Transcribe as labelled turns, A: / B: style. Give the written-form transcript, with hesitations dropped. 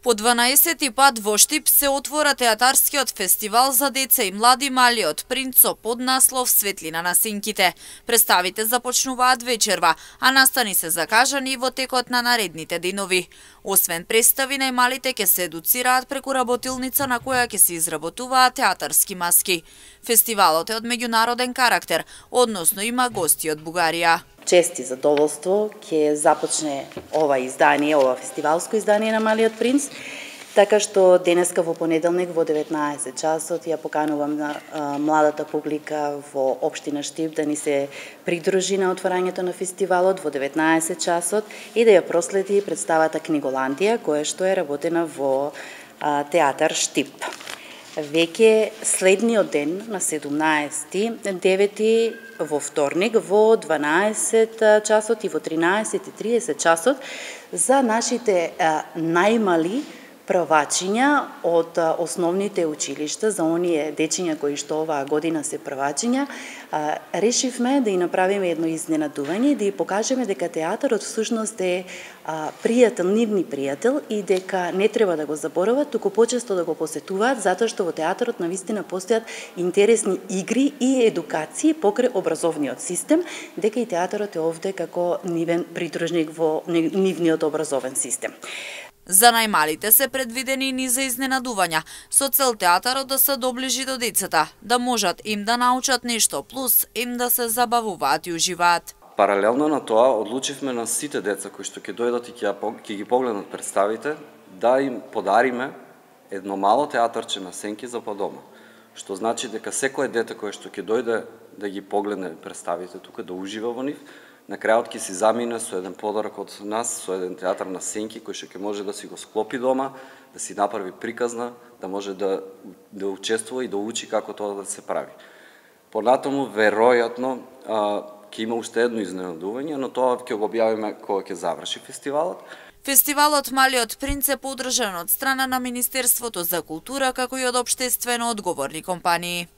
A: По 12 пат во Штип се отвора театарскиот фестивал за деца и млади Малиот принц со поднаслов Светлина на сенките. Представите започнуваат вечерва, а настани се закажани и во текот на наредните денови. Освен представи, најмалите ќе се едуцираат преку работилница на која ќе се изработуваат театарски маски. Фестивалот е од меѓународен карактер, односно има гости од Бугарија.
B: Чест и задоволство ќе започне ова издание, ова фестивалско издание на Малиот принц, така што денеска во понеделник во 19 часот ја поканувам на младата публика во општина Штип да ни се придружи на отворањето на фестивалот во 19 часот и да ја проследи представата Книголандија, која што е работена во театар Штип. Веќе следниот ден на 17.9 во вторник во 12 часот и во 13.30 часот за нашите најмали првачиња од основните училишта, за оние дечиња кои што оваа година се првачиња, решивме да и направиме едно изненадување и да ја покажеме дека театарот всушност е пријател, нивни пријател и дека не треба да го заборават, туку почесто да го посетуваат, затоа што во театарот навистина постојат интересни игри и едукации покрај образовниот систем, дека и театарот е овде како нивен придружник во нивниот образовен систем.
A: За најмалите се предвидени низа изненадувања, со цел театарот да се доближи до децата, да можат им да научат нешто, плюс им да се забавуваат и уживаат.
C: Паралелно на тоа, одлучивме на сите деца кои што ќе дојдат и ќе ги погледнат представите, да им подариме едно мало театарче на сенки за по дома. Што значи дека секое дете кое што ќе дојде да ги погледне представите тука, да ужива во нив, на крајот ќе си замине со еден подарок од нас, со еден театар на сенки кој што ќе може да си го склопи дома, да си направи приказна, да може да учествува и да учи како тоа да се прави. Понатаму, веројатно, ќе има уште едно изненадување, но тоа ќе го објавиме кога ќе заврши фестивалот.
A: Фестивалот Малиот принц е поддржан од страна на Министерството за култура како и од општествено одговорни компании.